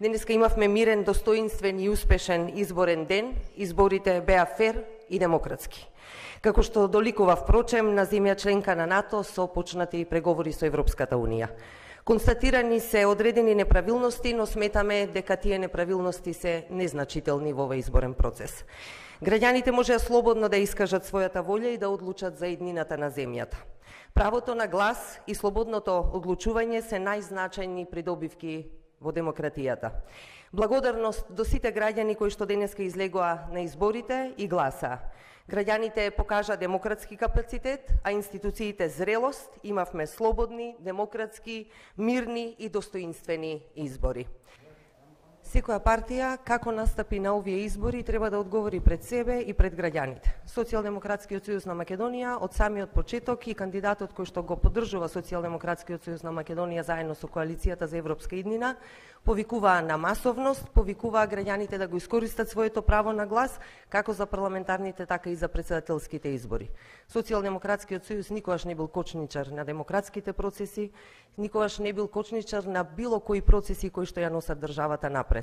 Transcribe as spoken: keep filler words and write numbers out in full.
Денеска имавме мирен, достоинствен и успешен изборен ден. Изборите беа фер и демократски. Како што доликува впрочем на земја членка на НАТО со почнати преговори со Европската Унија. Констатирани се одредени неправилности, но сметаме дека тие неправилности се незначителни во овој изборен процес. Граѓаните можеа слободно да искажат својата волја и да одлучат за иднината на земјата. Правото на глас и слободното одлучување се најзначајни придобивки во демократијата. Благодарност до сите граѓани кои што денеска излегоа на изборите и гласа. Граѓаните покажа демократски капацитет, а институциите зрелост. Имавме слободни, демократски, мирни и достоинствени избори. Секоја партија, како настапи на овие избори, треба да одговори пред себе и пред граѓаните. Социјалдемократскиот сојуз на Македонија од самиот почеток и кандидатот кој што го поддржува Социјалдемократскиот сојуз на Македонија заедно со коалицијата за европска иднина, повикуваа на масовност, повикуваа граѓаните да го искористат своето право на глас, како за парламентарните, така и за председателските избори. Социјалдемократскиот сојуз никогаш не бил кочничар на демократските процеси, никогаш не бил кочничар на било кои процеси кои што ја носат државата напред.